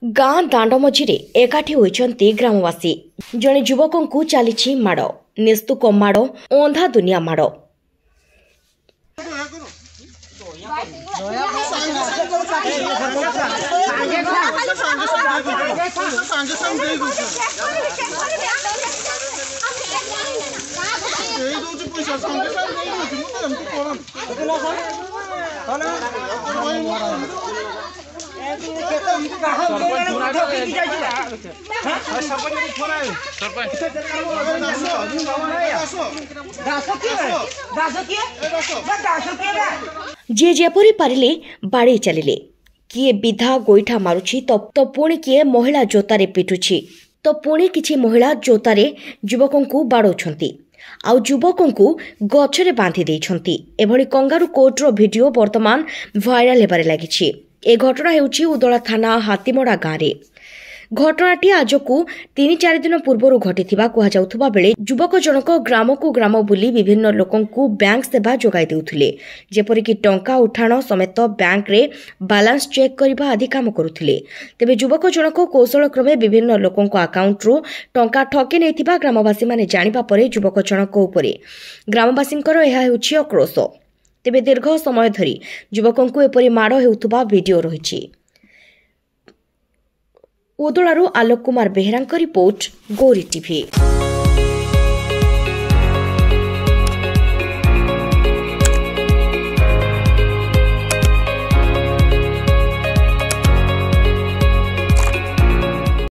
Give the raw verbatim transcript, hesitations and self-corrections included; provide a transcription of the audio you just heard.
ଗାଁ ଦାଣ୍ଡ ମଝିରେ ଏକାଠି ହୋଇଛନ୍ତି ଗ୍ରାମବାସୀ। ଜଣେ ଯୁବକଙ୍କୁ ଚାଲିଛି ମାଡ଼, ନିସ୍ତୁକ ମାଡ଼, ଅନ୍ଧା ଦୁନିଆ ମାଡ଼। ଦେଇଦଉଛି ପଇସା, ସାଙ୍ଗେ ସାଙ୍ଗେ ଦେଇଦଉଛି। ମୁଁ ତ ଏମିତି କରନି। ଯିଏ ଯେପରି ପାରିଲେ ବାଡ଼େଇ ଚାଲିଲେ। କିଏ ବିଧା ଗୋଇଠା ମାରୁଛି ତ ପୁଣି କିଏ ମହିଳା ଜୋତାରେ ପିଟୁଛି, ତ ପୁଣି କିଛି ମହିଳା ଜୋତାରେ ଯୁବକଙ୍କୁ ବାଡ଼ଉଛନ୍ତି, ଆଉ ଯୁବକଙ୍କୁ ଗଛରେ ବାନ୍ଧି ଦେଇଛନ୍ତି। ଏଭଳି କଙ୍ଗାରୁ କୋର୍ଟର ଭିଡିଓ ବର୍ତ୍ତମାନ ଭାଇରାଲ ହେବାରେ ଲାଗିଛି। ଏ ଘଟଣା ହେଉଛି ଉଦଳା ଥାନା ହାତୀମଡ଼ା ଗାଁରେ। ଘଟଣାଟି ଆଜକୁ ତିନି ଚାରି ଦିନ ପୂର୍ବରୁ ଘଟିଥିବା କୁହାଯାଉଥିବା ବେଳେ ଯୁବକ ଜଣକ ଗ୍ରାମକୁ ଗ୍ରାମ ବୁଲି ବିଭିନ୍ନ ଲୋକଙ୍କୁ ବ୍ୟାଙ୍କ ସେବା ଯୋଗାଇ ଦେଉଥିଲେ, ଯେପରିକି ଟଙ୍କା ଉଠାଣ ସମେତ ବ୍ୟାଙ୍କରେ ବାଲାନ୍ସ ଚେକ୍ କରିବା ଆଦି କାମ କରୁଥିଲେ। ତେବେ ଯୁବକ ଜଣକ କୌଶଳକ୍ରମେ ବିଭିନ୍ନ ଲୋକଙ୍କ ଆକାଉଣ୍ଟରୁ ଟଙ୍କା ଠକି ନେଇଥିବା ଗ୍ରାମବାସୀମାନେ ଜାଣିବା ପରେ ଯୁବକ ଜଣକ ଉପରେ ଗ୍ରାମବାସୀଙ୍କର ଏହା ହେଉଛି ଆକ୍ରୋଶ। ତେବେ ଦୀର୍ଘ ସମୟ ଧରି ଯୁବକଙ୍କୁ ଏପରି ମାଡ଼ ହେଉଥିବା ଭିଡିଓ ରହିଛି। ଉଦଳାରୁ ଆଲୋକ କୁମାର ବେହେରାଙ୍କ ରିପୋର୍ଟ, ଗୌରୀ ଟିଭି।